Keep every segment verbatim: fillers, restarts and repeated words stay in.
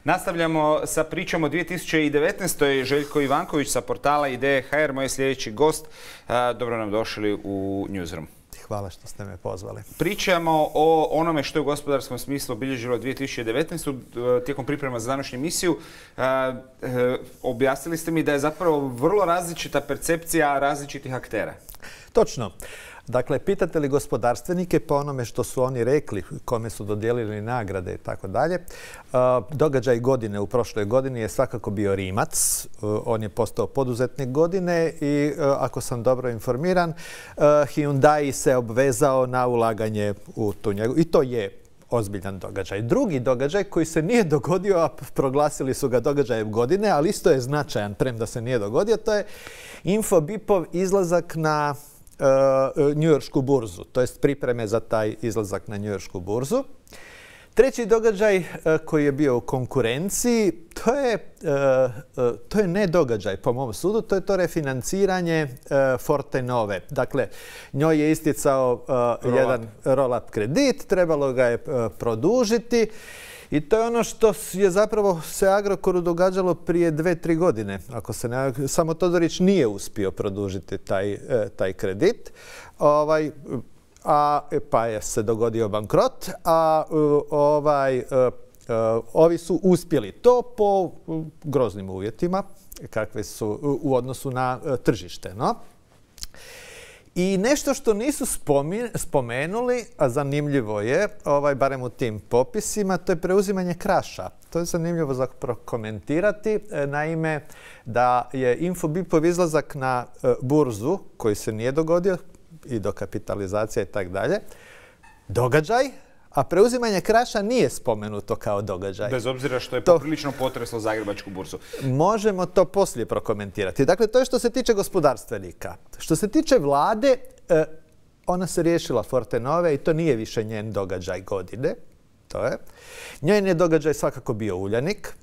Nastavljamo sa pričom o dvije tisuće devetnaestoj. Željko Ivanković sa portala Ideje ha er, moj sljedeći gost. Dobro nam došli u Newsroom. Hvala što ste me pozvali. Pričamo o onome što je u gospodarskom smislu obilježilo dvije tisuće devetnaestu. Tijekom priprema za današnju emisiju objasnili ste mi da je zapravo vrlo različita percepcija različitih aktera. Točno. Dakle, pitate li gospodarstvenike po onome što su oni rekli, kome su dodijelili nagrade i tako dalje, događaj godine u prošloj godini je svakako bio Rimac. On je postao poduzetnik godine i, ako sam dobro informiran, Hyundai se obvezao na ulaganje u tu njegu. I to je ozbiljan događaj. Drugi događaj koji se nije dogodio, a proglasili su ga događajem godine, ali isto je značajan, premda se nije dogodio, to je Infobipov izlazak na njujoršku burzu, to jest pripreme za taj izlazak na njujoršku burzu. Treći događaj koji je bio u konkurenciji, to je, to je ne događaj po mom sudu, to je to refinanciranje Fortenove. Dakle, njoj je isticao roll jedan roll-up kredit, trebalo ga je produžiti. I to je ono što je zapravo se Agrokoru događalo prije dve, tri godine. Ako se ne, samo Todorić nije uspio produžiti taj, taj kredit, ovaj, a, pa je se dogodio bankrot, a ovaj, ovi su uspjeli to po groznim uvjetima kakve su u odnosu na tržište. No? I nešto što nisu spomenuli, a zanimljivo je, ovaj, barem u tim popisima, to je preuzimanje Kraša. To je zanimljivo za prokomentirati. Naime, da je Infobipov izlazak na burzu, koji se nije dogodio, i dokapitalizacija i tako dalje, događaj, a preuzimanje Kraša nije spomenuto kao događaj. Bez obzira što je poprilično potreslo Zagrebačku burzu. Možemo to poslije prokomentirati. Dakle, to je što se tiče gospodarstvenika. Što se tiče vlade, ona se riješila Fortenove i to nije više njen događaj godine. To je. Njen je događaj svakako bio Uljanik.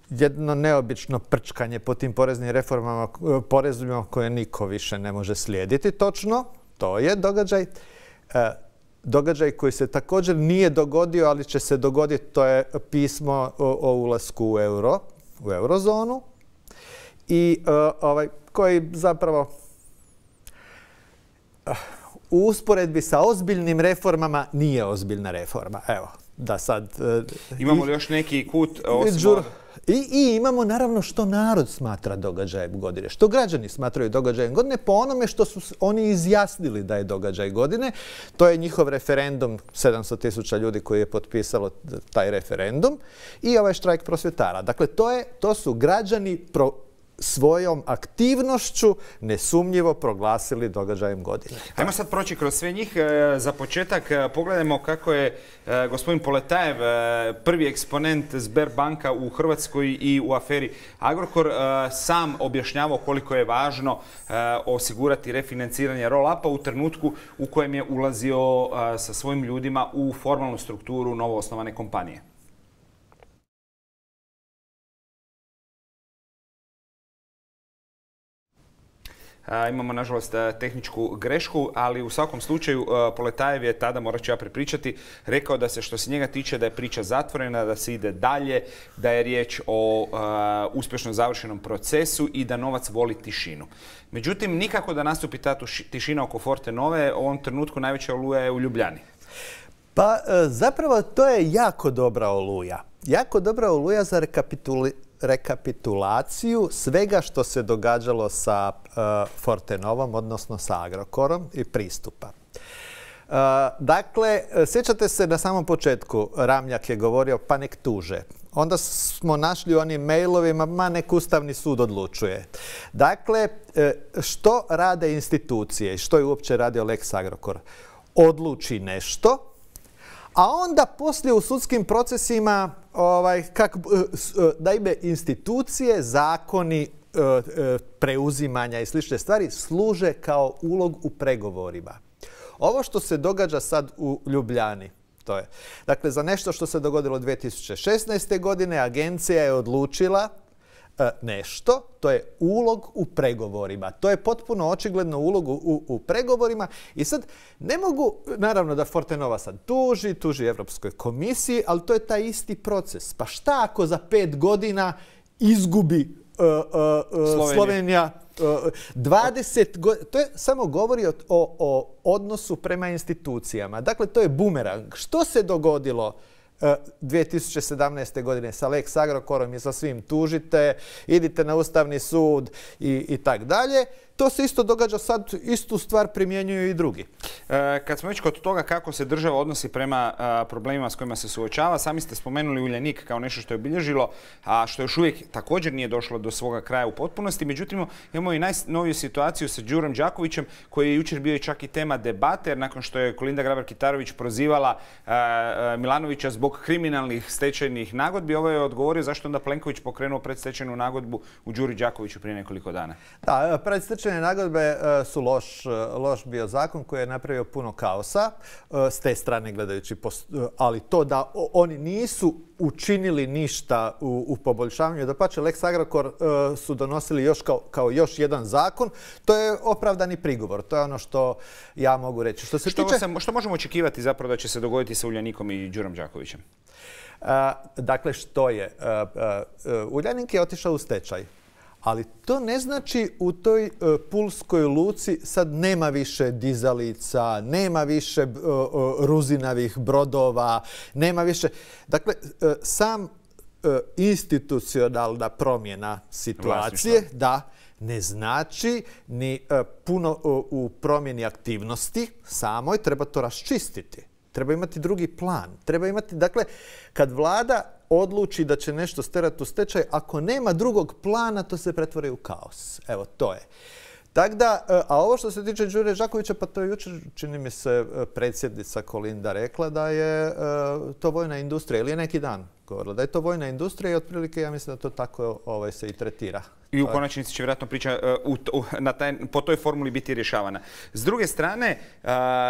Jedno neobično prčkanje po tim poreznim reformama, porezima koje niko više ne može slijediti. Točno, to je događaj. Događaj koji se također nije dogodio, ali će se dogoditi, to je pismo o, o ulasku u euro, u eurozonu, i uh, ovaj, koji zapravo uh, u usporedbi sa ozbiljnim reformama nije ozbiljna reforma. Evo, da sad... Uh, Imamo li još neki kut osim... I, I imamo naravno što narod smatra događajem godine, što građani smatraju događajem godine po onome što su oni izjasnili da je događaj godine. To je njihov referendum, sedamsto tisuća ljudi koji je potpisalo taj referendum, i ovaj štrajk prosvjetara. Dakle, to, je, to su građani pro, svojom aktivnošću nesumnjivo proglasili događajem godine. Ajmo sad proći kroz sve njih. Za početak pogledajmo kako je gospodin Poletajev, prvi eksponent Sberbanka u Hrvatskoj i u aferi Agrokor, sam objašnjavao koliko je važno osigurati refinanciranje roll-upa u trenutku u kojem je ulazio sa svojim ljudima u formalnu strukturu novoosnovane kompanije. Imamo, nažalost, tehničku grešku, ali u svakom slučaju Poletajev je tada, morat ću ja prepričati, rekao da se što se njega tiče da je priča zatvorena, da se ide dalje, da je riječ o uh, uspješno završenom procesu i da novac voli tišinu. Međutim, nikako da nastupi ta tišina oko Fortenove, u ovom trenutku najveća oluja je u Ljubljani. Pa zapravo to je jako dobra oluja. Jako dobra oluja za rekapitulaciju rekapitulaciju svega što se događalo sa uh, Fortenovom, odnosno sa Agrokorom i pristupa. Uh, dakle, sjećate se na samom početku, Ramljak je govorio pa nek tuže. Onda smo našli u onim mailovima, ma nek Ustavni sud odlučuje. Dakle, što rade institucije i što je uopće radio Lex Agrokor? Odluči nešto, a onda poslije u sudskim procesima ovaj, kak, da ime institucije, zakoni, preuzimanja i slične stvari služe kao ulog u pregovorima. Ovo što se događa sad u Ljubljani, to je. Dakle, za nešto što se dogodilo dvije tisuće šesnaeste. godine, agencija je odlučila nešto, to je ulog u pregovorima. To je potpuno očigledno ulog u, u pregovorima i sad ne mogu, naravno da Fortenova sad tuži, tuži Europskoj komisiji, ali to je taj isti proces. Pa šta ako za pet godina izgubi uh, uh, Slovenija, Slovenija uh, dvadeset godina? To je samo govori o, o, o odnosu prema institucijama. Dakle, to je bumerang. Što se dogodilo dvije tisuće sedamnaeste. godine sa Lex Agrokorom i sa svim tužite, idite na Ustavni sud i, i tak dalje. To se isto događa sad, istu stvar primjenjuju i drugi. E, kad smo već kod toga kako se država odnosi prema a, problemima s kojima se suočava, sami ste spomenuli Uljanik kao nešto što je obilježilo, a što još uvijek također nije došlo do svoga kraja u potpunosti. Međutim, imamo i najnoviju situaciju sa Đurom Đakovićem, koji je jučer bio i čak i tema debate, jer nakon što je Kolinda Grabar-Kitarović prozivala a, a, Milanovića zbog kriminalnih stečajnih nagodbi, ovo je odgovorio zašto onda Plenković pokrenuo predstečajnu nagodbu u Đuri Đakoviću prije nekoliko dana. Da, predstečajne nagodbe su loš, loš bio zakon koji je napravio puno kaosa s te strane gledajući, ali to da oni nisu učinili ništa u, u poboljšavanju, dapače Lex Agrokor uh, su donosili još kao, kao još jedan zakon, to je opravdani prigovor. To je ono što ja mogu reći. Što se što, tiče... se, što možemo očekivati zapravo da će se dogoditi sa Uljanikom i Đurom Đakovićem? Uh, dakle, što je? Uh, uh, Uljanik je otišao u stečaj. Ali to ne znači u toj uh, pulskoj luci sad nema više dizalica, nema više uh, uh, ruzinavih brodova, nema više... Dakle, uh, sam uh, institucionalna promjena situacije, da, ne znači ni uh, puno uh, u promjeni aktivnosti samoj, treba to raščistiti. Treba imati drugi plan. Treba imati, dakle, kad vlada odluči da će nešto sterati u stečaj, ako nema drugog plana, to se pretvori u kaos. Evo, to je. Tako da, a ovo što se tiče Đure Đakovića, pa to je jučer, čini mi se, predsjednica Kolinda rekla da je to vojna industrija, ili je neki dan govorila da je to vojna industrija i otprilike ja mislim da to tako ovaj, se i tretira. I u konačnici će vjerojatno priča uh, u, na taj, po toj formuli biti rješavana. S druge strane, uh,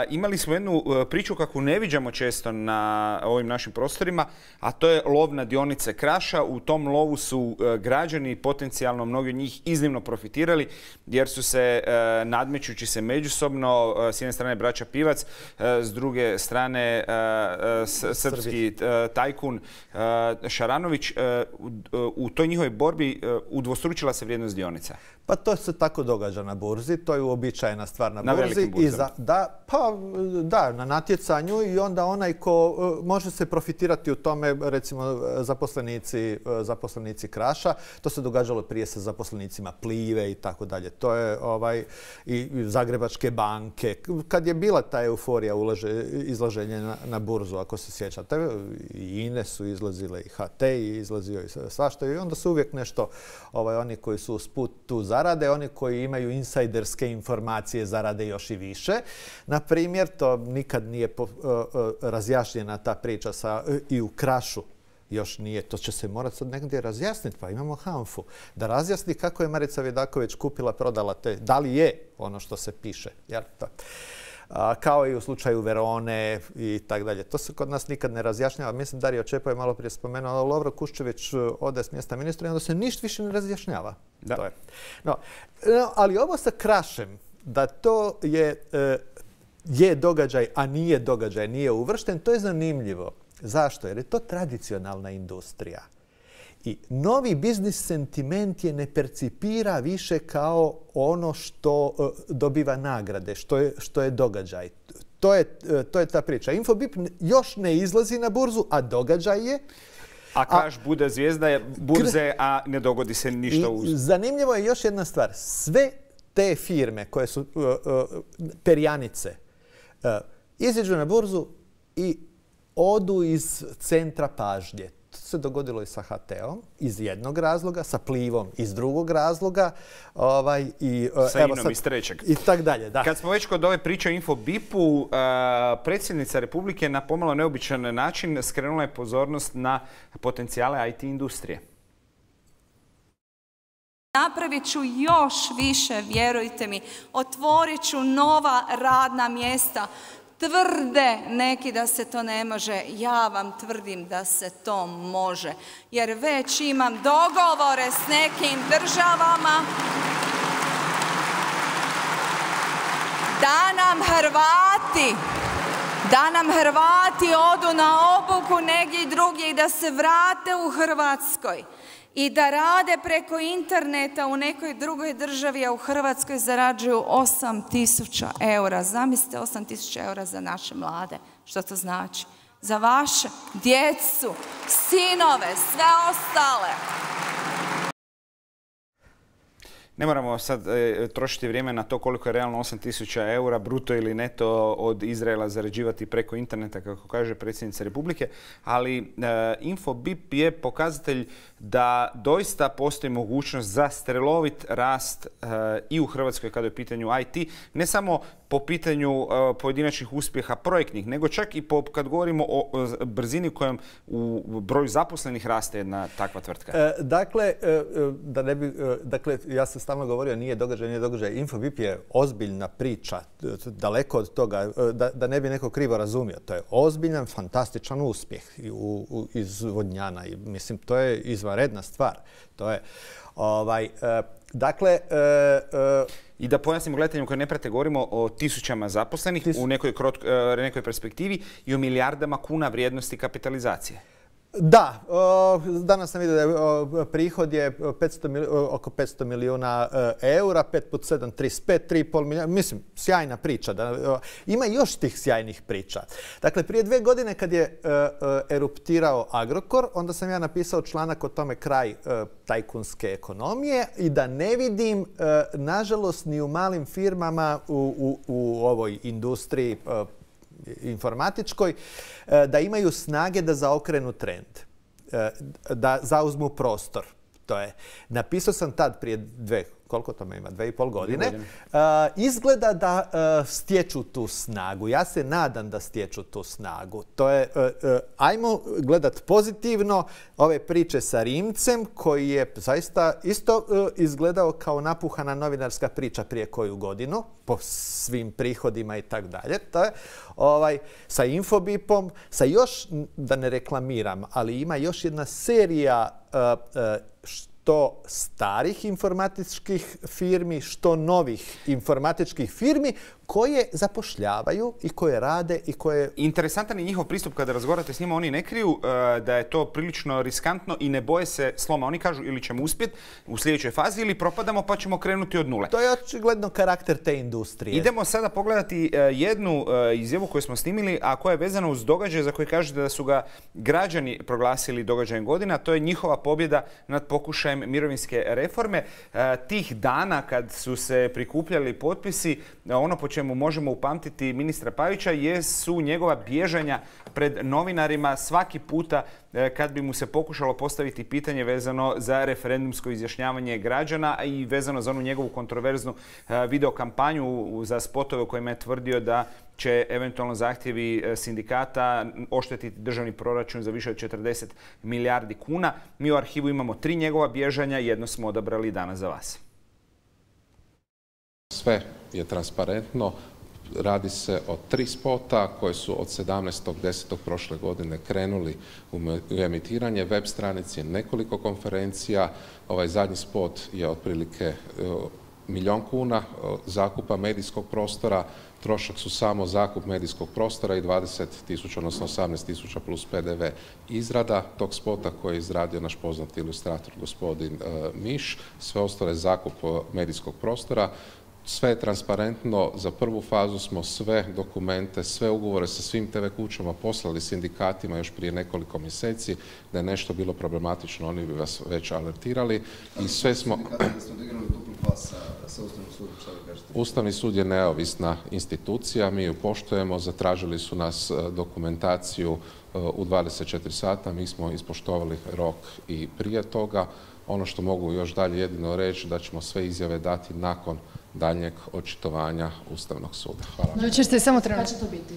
imali smo jednu uh, priču kakvu ne viđamo često na ovim našim prostorima, a to je lov na dionice Kraša. U tom lovu su uh, građani, potencijalno mnogi od njih, iznimno profitirali, jer su se uh, nadmećući se međusobno, uh, s jedne strane braća Pivac, uh, s druge strane uh, uh, srpski uh, tajkun uh, Šaranović, uh, u, u toj njihovoj borbi uh, udvostručila se vrijednost dionica. Pa to se tako događa na burzi, to je uobičajena stvar na, na burzi. I za, da, pa da, na natjecanju i onda onaj ko uh, može se profitirati u tome, recimo zaposlenici, uh, zaposlenici Kraša, to se događalo prije sa zaposlenicima Plive i tako dalje. To je ovaj, i Zagrebačke banke. Kad je bila ta euforija ulaže, izlaženja na, na burzu, ako se sjećate, i Ine su izlazile, i H T i izlazio i svašta. I onda su uvijek nešto, ovaj, oni koji su usput tu zarade, oni koji imaju insajderske informacije zarade još i više. Na primjer, to nikad nije po, uh, uh, razjašnjena ta priča sa, uh, i u Krašu. Još nije. To će se morati sad negdje razjasniti. Pa imamo Hanfu. Da razjasni kako je Marica Vidaković kupila, prodala te. Da li je ono što se piše. Jel? To. A, kao i u slučaju Verone i tak dalje. To se kod nas nikad ne razjašnjava. Mislim, Dario Čepo je malo prije spomenuo, Lovro Kuščević ode s mjesta ministra i onda se ništa više ne razjašnjava. Da. To je. No, no, ali ovo sa Krašem, da to je, je događaj, a nije događaj, nije uvršten, to je zanimljivo. Zašto? Jer je to tradicionalna industrija. I novi biznis sentiment je ne percipira više kao ono što uh, dobiva nagrade, što je, što je događaj. To je, uh, to je ta priča. Infobip još ne izlazi na burzu, a događaj je. A Kraš bude zvijezda burze, a ne dogodi se ništa uz. Zanimljivo je još jedna stvar. Sve te firme koje su uh, uh, perjanice uh, iziđu na burzu i odu iz centra pažnje. To se dogodilo i sa H T-om iz jednog razloga, sa Plivom iz drugog razloga. Ovaj, i, sa Inom sad, iz trećeg. I tak dalje, da. Kad smo već kod ove priče o Infobipu, uh, predsjednica Republike na pomalo neobičan način skrenula je pozornost na potencijale I T industrije. Napravit ću još više, vjerujte mi. Otvorit ću nova radna mjesta. Tvrde neki da se to ne može, ja vam tvrdim da se to može, jer već imam dogovore s nekim državama da nam Hrvati, da nam Hrvati odu na obuku negdje drugdje i da se vrate u Hrvatskoj i da rade preko interneta u nekoj drugoj državi, a u Hrvatskoj zarađuju osam tisuća eura. Zamislite, osam tisuća eura za naše mlade. Što to znači? Za vaše djecu, sinove, sve ostale. Ne moramo sad e, trošiti vrijeme na to koliko je realno osam tisuća eura, bruto ili neto, od Izraela zarađivati preko interneta, kako kaže predsjednica Republike, ali e, Infobip je pokazatelj da doista postoji mogućnost za strelovit rast e, i u Hrvatskoj kada je u pitanju I T, ne samo po pitanju e, pojedinačnih uspjeha projektnih, nego čak i po, kad govorimo o, o brzini kojom u broju zaposlenih raste jedna takva tvrtka. E, dakle, e, da ne bi, e, dakle, ja sam stalno govorio, nije događaj, nije događaj. Infobip je ozbiljna priča, daleko od toga, da, da ne bi neko krivo razumio. To je ozbiljan, fantastičan uspjeh u, u, iz Vodnjana. I, mislim, to je izvanredna stvar. To je, ovaj, e, dakle... E, e, I da pojasnimo gledateljima koji ne prate, govorimo o tisućama zaposlenih Tis... u nekoj, krot, nekoj perspektivi i o milijardama kuna vrijednosti kapitalizacije. Da, danas sam vidio da je prihod je petsto, oko petsto milijuna eura, pet puta sedam, trideset pet, tri i pol milijuna. Mislim, sjajna priča. Ima još tih sjajnih priča. Dakle, prije dve godine kad je eruptirao Agrokor, onda sam ja napisao članak o tome kraj tajkunske ekonomije i da ne vidim, nažalost, ni u malim firmama u, u, u ovoj industriji informatičkoj, da imaju snage da zaokrenu trend, da zauzmu prostor. To je. Napisao sam tad prije dve, koliko tome ima, dve i pol godine. godine. Uh, izgleda da uh, stječu tu snagu. Ja se nadam da stječu tu snagu. To je, uh, uh, ajmo gledat pozitivno ove priče sa Rimcem, koji je zaista isto uh, izgledao kao napuhana novinarska priča prije koju godinu, po svim prihodima i tako dalje. To je, ovaj, sa Infobipom, sa još, da ne reklamiram, ali ima još jedna serija uh, uh, što starih informatičkih firmi, što novih informatičkih firmi koje zapošljavaju i koje rade i koje... Interesantan je njihov pristup kada razgovarate s njima. Oni ne kriju uh, da je to prilično riskantno i ne boje se sloma. Oni kažu ili ćemo uspjeti u sljedećoj fazi ili propadamo pa ćemo krenuti od nule. To je očigledno karakter te industrije. Idemo sada pogledati uh, jednu uh, izjavu koju smo snimili, a koja je vezana uz događaj za koji kažete da su ga građani proglasili događajem godina. To je njihova pobjeda nad pokušajem mirovinske reforme. Uh, tih dana kad su se prikupljali potpisi, uh, ono po čemu možemo upamtiti ministra Pavića jesu njegova bježanja pred novinarima svaki puta kad bi mu se pokušalo postaviti pitanje vezano za referendumsko izjašnjavanje građana i vezano za onu njegovu kontroverznu videokampanju za spotove u kojima je tvrdio da će eventualno zahtjevi sindikata oštetiti državni proračun za više od četrdeset milijardi kuna. Mi u arhivu imamo tri njegova bježanja, jedno smo odabrali danas za vas. Sve je transparentno. Radi se o tri spota koje su od sedamnaestog desetog prošle godine krenuli u emitiranje. Web stranici, nekoliko konferencija. Ovaj zadnji spot je otprilike milijun kuna zakupa medijskog prostora. Trošak su samo zakup medijskog prostora i dvadeset tisuća, odnosno osamnaest tisuća plus P D V. Izrada tog spota koji je izradio naš poznati ilustrator gospodin Miš. Sve ostalo je zakup medijskog prostora. Sve je transparentno. Za prvu fazu smo sve dokumente, sve ugovore sa svim T V kućama poslali sindikatima još prije nekoliko mjeseci. Da je nešto bilo problematično, oni bi vas već alertirali. I sve smo... Ustavni sud je neovisna institucija, mi ju poštujemo, zatražili su nas dokumentaciju u dvadeset četiri sata, mi smo ispoštovali rok i prije toga. Ono što mogu još dalje jedino reći da ćemo sve izjave dati nakon daljnjeg očitovanja Ustavnog suda. Hvala. Jučer ste samo trebali. Kad će to biti?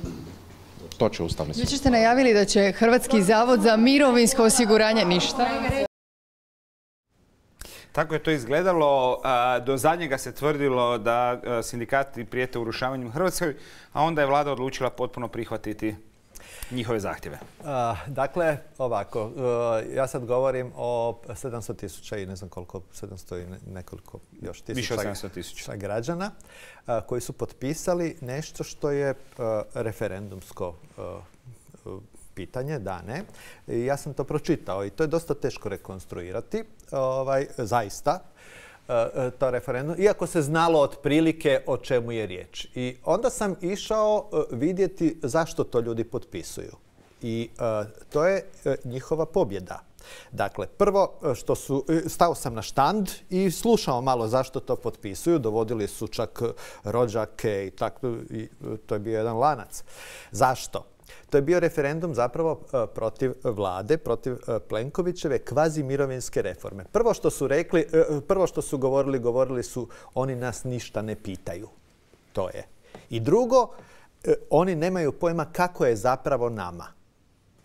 To će Ustavni sud. Jučer ste najavili da će Hrvatski zavod za mirovinsko osiguranje ništa. Tako je to izgledalo. Do zadnjega se tvrdilo da sindikati prijete urušavanjem Hrvatskoj, a onda je vlada odlučila potpuno prihvatiti njihove zahtjeve. Dakle, ovako, ja sad govorim o sedamsto tisuća i ne znam koliko, sedamsto i nekoliko još tisuća građana koji su potpisali nešto što je referendumsko pitanje, da ne. I ja sam to pročitao i to je dosta teško rekonstruirati, ovaj, zaista, to referendum, iako se znalo otprilike o čemu je riječ. I onda sam išao vidjeti zašto to ljudi potpisuju. I to je njihova pobjeda. Dakle, prvo što su, stao sam na štand i slušao malo zašto to potpisuju. Dovodili su čak rođake i tako, i to je bio jedan lanac. Zašto? To je bio referendum zapravo protiv vlade, protiv Plenkovićeve kvazi mirovinske reforme. Prvo što su rekli, prvo što su govorili, govorili su oni nas ništa ne pitaju. To je. I drugo, oni nemaju pojma kako je zapravo nama.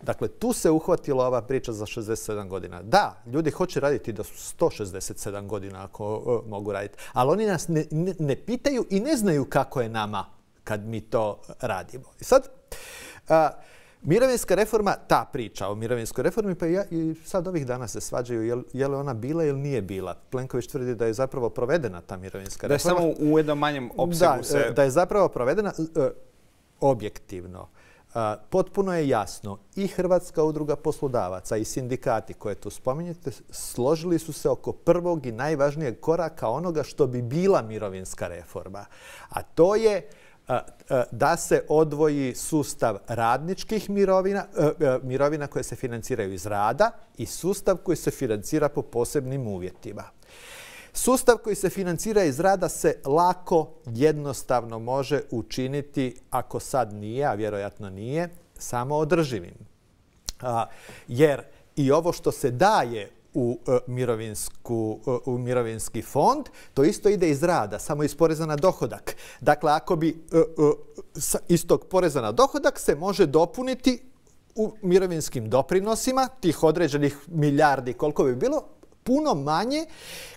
Dakle, tu se uhvatila ova priča za šezdeset sedam godina. Da, ljudi hoće raditi do sto šezdeset sedam godina ako mogu raditi, ali oni nas ne, ne, ne pitaju i ne znaju kako je nama kad mi to radimo. I sad, a, mirovinska reforma, ta priča o mirovinskoj reformi, pa ja, i sad ovih dana se svađaju je, je li ona bila ili nije bila. Plenković tvrdi da je zapravo provedena ta mirovinska reforma. Da je samo u jednom manjem opsegu da, se... Da je zapravo provedena uh, objektivno. Uh, potpuno je jasno i Hrvatska udruga poslodavaca i sindikati koje tu spominjete složili su se oko prvog i najvažnijeg koraka onoga što bi bila mirovinska reforma. A to je da se odvoji sustav radničkih mirovina, mirovina koje se financiraju iz rada i sustav koji se financira po posebnim uvjetima. Sustav koji se financira iz rada se lako, jednostavno može učiniti, ako sad nije, a vjerojatno nije, samo održivim. Jer i ovo što se daje U, mirovinsku, u mirovinski fond, to isto ide iz rada, samo iz poreza na dohodak. Dakle, ako bi iz tog poreza na dohodak se može dopuniti u mirovinskim doprinosima, tih određenih milijardi koliko bi bilo, puno manje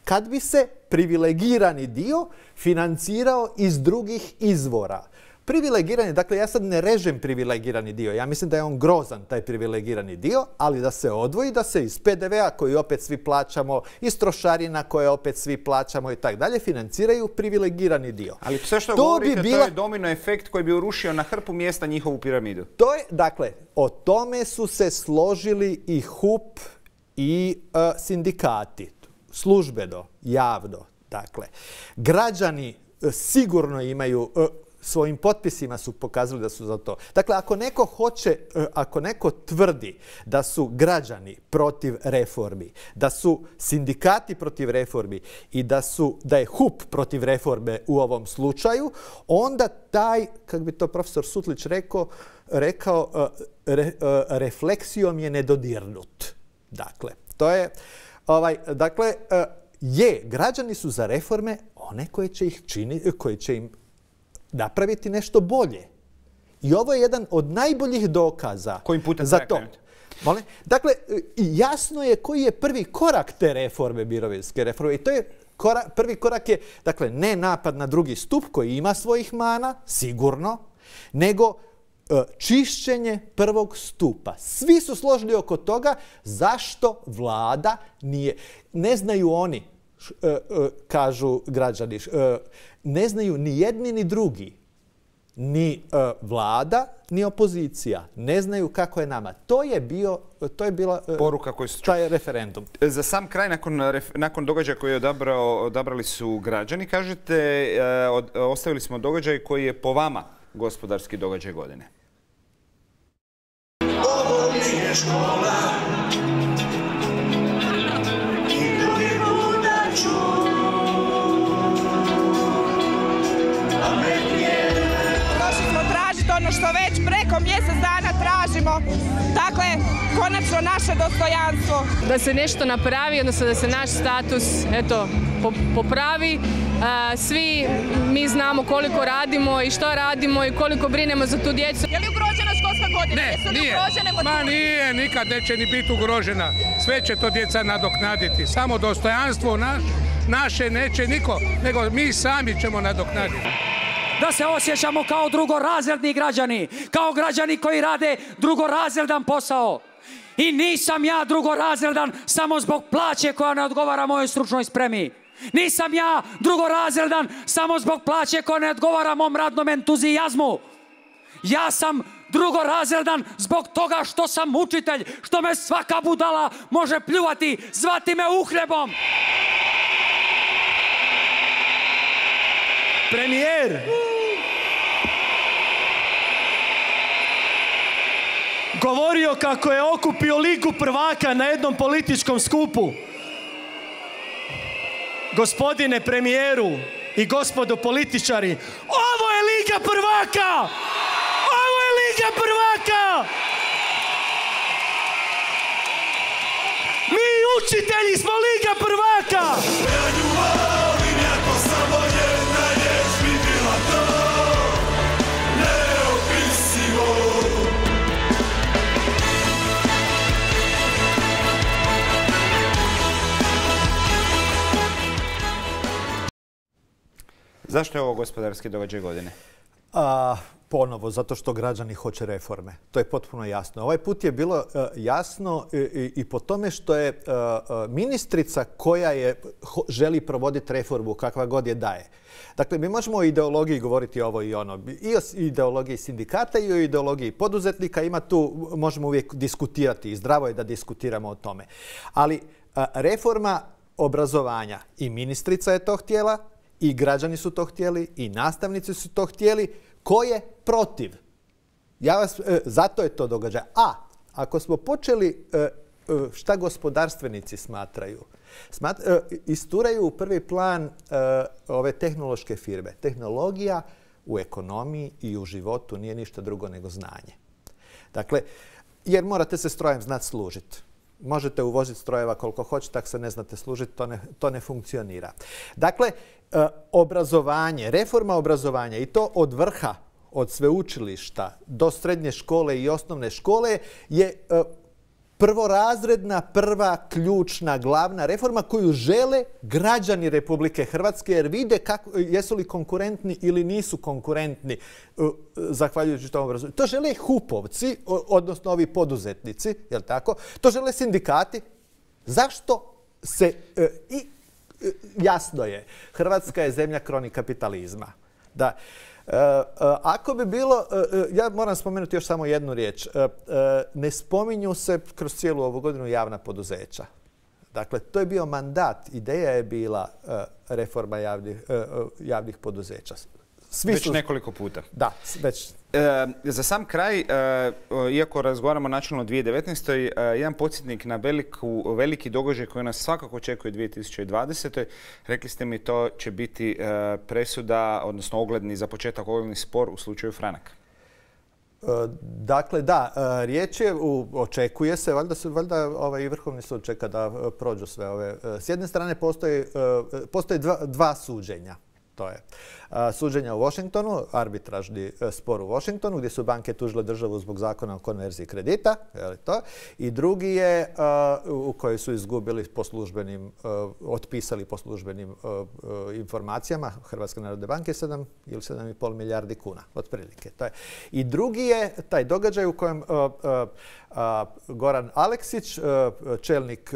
kad bi se privilegirani dio financirao iz drugih izvora. Privilegirani, dakle ja sad ne režem privilegirani dio, ja mislim da je on grozan taj privilegirani dio, ali da se odvoji, da se iz P D V-a koji opet svi plaćamo, iz trošarina koje opet svi plaćamo i tako dalje, financiraju privilegirani dio. Ali sve što to govorite, bi bila... to je domino efekt koji bi urušio na hrpu mjesta njihovu piramidu. To je, dakle, o tome su se složili i H U P i uh, sindikati, službeno, javno. Dakle, građani uh, sigurno imaju... Uh, svojim potpisima su pokazali da su za to. Dakle, ako neko hoće, ako neko tvrdi da su građani protiv reformi, da su sindikati protiv reformi i da su da je H U P protiv reforme u ovom slučaju, onda taj, kako bi to profesor Sutlić rekao, rekao re, refleksijom je nedodirnut. Dakle, to je ovaj, dakle je građani su za reforme one koje će ih činiti, koje će im napraviti nešto bolje. I ovo je jedan od najboljih dokaza kojim putem za to. Molim? Dakle, jasno je koji je prvi korak te reforme, mirovinske reforme. I to je korak, prvi korak je, dakle, ne napad na drugi stup koji ima svojih mana, sigurno, nego e, čišćenje prvog stupa. Svi su složili oko toga zašto vlada nije. Ne znaju oni, š, e, e, kažu građani, š, e, ne znaju ni jedni ni drugi, ni uh, vlada, ni opozicija. Ne znaju kako je nama. To je bio, to je bila uh, poruka koju su taj referendum. Za sam kraj, nakon, nakon događaja koji je odabrao, odabrali su građani, kažete, uh, od, ostavili smo događaj koji je po vama gospodarski događaj godine. Ovo nije škola. Ono što već preko mjesec dana tražimo, dakle, konačno naše dostojanstvo. Da se nešto napravi, odnosno da se naš status eto, popravi Svi mi znamo koliko radimo i što radimo i koliko brinemo za tu djecu. Je li ugrožena školska godina? Ne, nije. Ma nije, nikad neće ni biti ugrožena. Sve će to djeca nadoknaditi. Samo dostojanstvo naš, naše neće niko, nego mi sami ćemo nadoknaditi. Da se osjećamo kao drugorazredni građani, kao građani koji rade drugorazredan posao. I nisam ja drugorazredan samo zbog plaće koja ne odgovara mojoj stručnoj spremi. Nisam ja drugorazredan samo zbog plaće koja ne odgovara mom radnom entuzijazmu. Ja sam drugorazredan zbog toga što sam učitelj, što me svaka budala može pljuvati, zvati me uhljebom. Premijer! Govorio kako je okupio Ligu prvaka na jednom političkom skupu. Gospodine premijeru i gospodo političari, ovo je Liga prvaka! Ovo je Liga prvaka! Mi učitelji smo Liga prvaka! Zašto je ovo gospodarski događaj godine? A, ponovo, zato što građani hoće reforme. To je potpuno jasno. Ovaj put je bilo uh, jasno i, i, i po tome što je uh, uh, ministrica koja je ho, želi provoditi reformu kakva god je daje. Dakle, mi možemo o ideologiji govoriti ovo i ono. I o ideologiji sindikata i o ideologiji poduzetnika. Ima tu, možemo uvijek diskutirati i zdravo je da diskutiramo o tome. Ali uh, reforma obrazovanja i ministrica je to htjela, i građani su to htjeli, i nastavnici su to htjeli. Ko je protiv? Ja vas, e, zato je to događaj. A, ako smo počeli e, šta gospodarstvenici smatraju, smat, e, isturaju u prvi plan e, ove tehnološke firme. Tehnologija u ekonomiji i u životu nije ništa drugo nego znanje. Dakle, jer morate se strojem znati služiti. Možete uvoziti strojeva koliko hoćete, ako se ne znate služiti, to ne, to ne funkcionira. Dakle, e, obrazovanje, reforma obrazovanja i to od vrha, od sveučilišta do srednje škole i osnovne škole je e, prvorazredna, prva, ključna, glavna reforma koju žele građani Republike Hrvatske jer vide kako, jesu li konkurentni ili nisu konkurentni uh, zahvaljujući tom obrazovanju. To žele hupovci, odnosno ovi poduzetnici, jel tako? To žele sindikati. Zašto se... Uh, i uh, jasno je, Hrvatska je zemlja kroni kapitalizma. Da. Uh, uh, ako bi bilo, uh, ja moram spomenuti još samo jednu riječ, uh, uh, ne spominju se kroz cijelu ovu godinu javna poduzeća. Dakle, to je bio mandat, ideja je bila uh, reforma javnih, uh, javnih poduzeća. Svi već su... nekoliko puta. Da, već. E, za sam kraj, e, iako razgovaramo načelno o dvije tisuće devetnaestoj. E, jedan podsjetnik na veliku, veliki događaj koji nas svakako očekuje dvije tisuće dvadesetoj. Rekli ste mi to će biti e, presuda, odnosno ogledni, za početak ogledni spor u slučaju Franak. E, dakle, da, e, riječ je, u, očekuje se, valjda, su, valjda ovaj, i Vrhovni sud čeka da prođu sve ove. S jedne strane postoji, e, postoji dva, dva suđenja. To je suđenja u Washingtonu, arbitražni spor u Washingtonu gdje su banke tužile državu zbog zakona o konverziji kredita. Je to? I drugi je u kojoj su izgubili po službenim, otpisali po službenim informacijama Hrvatske narodne banke sedam ili sedam i pol milijardi kuna, otprilike. To je. I drugi je taj događaj u kojem Goran Aleksić, čelnik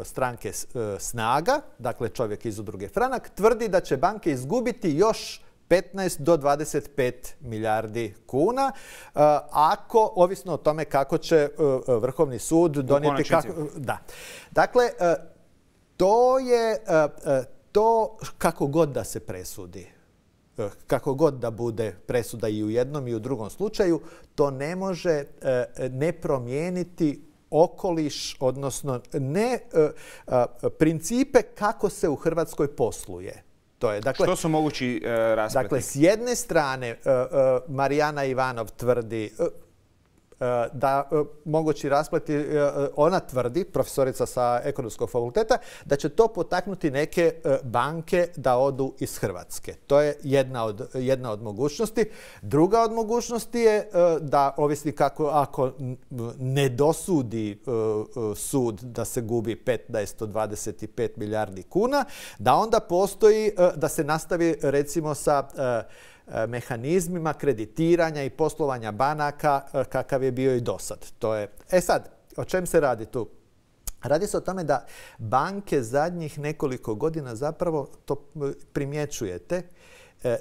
stranke Snaga, dakle čovjek iz udruge Franak, tvrdi da će banke izgubiti još petnaest do dvadeset pet milijardi kuna, ako, ovisno o tome kako će Vrhovni sud donijeti... Kako, da. Dakle, to je to kako god da se presudi. Kako god da bude presuda i u jednom i u drugom slučaju, to ne može ne promijeniti okoliš, odnosno ne principe kako se u Hrvatskoj posluje. To je, dakle, što su mogući uh, raspleti? Dakle, s jedne strane uh, uh, Marijana Ivanov tvrdi, uh, da mogući raspleti, ona tvrdi, profesorica sa Ekonomskog fakulteta, da će to potaknuti neke banke da odu iz Hrvatske. To je jedna od, jedna od mogućnosti. Druga od mogućnosti je da, ovisni kako, ako ne dosudi sud da se gubi petnaest do dvadeset pet milijardi kuna, da onda postoji, da se nastavi recimo sa mehanizmima kreditiranja i poslovanja banaka kakav je bio i do sad. To je. E sad, o čem se radi tu? Radi se o tome da banke zadnjih nekoliko godina, zapravo to primjećujete,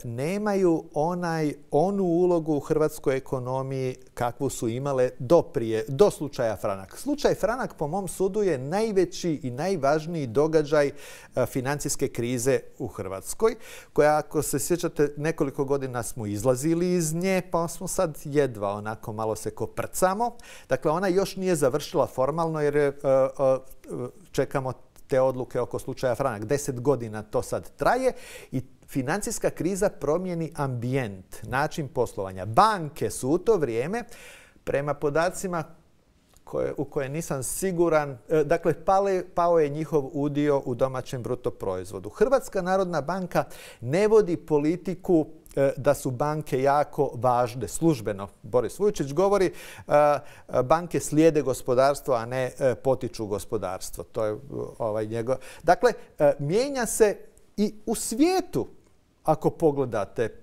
nemaju onaj, onu ulogu u hrvatskoj ekonomiji kakvu su imale do prije, do slučaja Franak. Slučaj Franak, po mom sudu, je najveći i najvažniji događaj financijske krize u Hrvatskoj, koja, ako se sjećate, nekoliko godina smo izlazili iz nje, pa smo sad jedva onako malo se koprcamo. Dakle, ona još nije završila formalno jer je, čekamo te odluke oko slučaja Franak. Deset godina to sad traje i financijska kriza promijeni ambijent, način poslovanja. Banke su u to vrijeme, prema podacima koje, u koje nisam siguran, dakle pale, pao je njihov udio u domaćem bruto proizvodu. Hrvatska narodna banka ne vodi politiku da su banke jako važne. Službeno, Boris Vujčić govori, banke slijede gospodarstvo, a ne potiču gospodarstvo. To je ovaj njegov. Dakle, mijenja se i u svijetu, ako pogledate,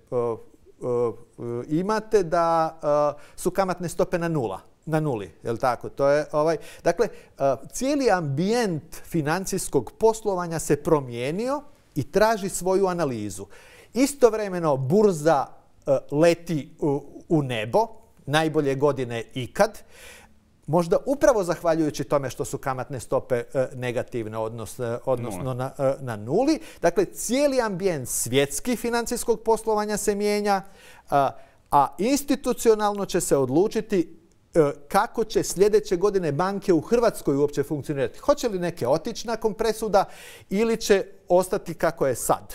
imate da su kamatne stope na nula. Na nuli, je li tako? To je, ovaj, dakle, cijeli ambijent financijskog poslovanja se promijenio i traži svoju analizu. Istovremeno burza leti u nebo, najbolje godine ikad, možda upravo zahvaljujući tome što su kamatne stope negativne, odnosno, odnosno na, na nuli. Dakle, cijeli ambijent svjetski financijskog poslovanja se mijenja, a institucionalno će se odlučiti kako će sljedeće godine banke u Hrvatskoj uopće funkcionirati. Hoće li neke otići nakon presuda ili će ostati kako je sad?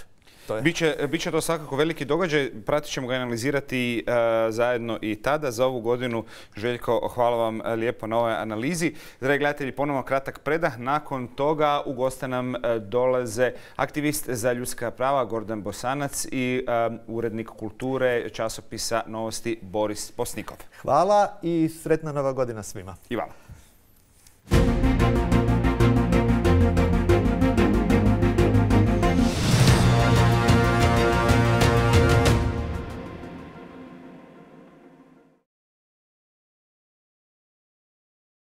Biće, biće to svakako veliki događaj, pratit ćemo ga analizirati uh, zajedno i tada. Za ovu godinu, Željko, hvala vam lijepo na ovoj analizi. Dragi gledatelji, ponovno kratak predah. Nakon toga u goste nam uh, dolaze aktivist za ljudska prava Gordan Bosanac i uh, urednik kulture časopisa Novosti Boris Posnikov. Hvala i sretna nova godina svima. I vama.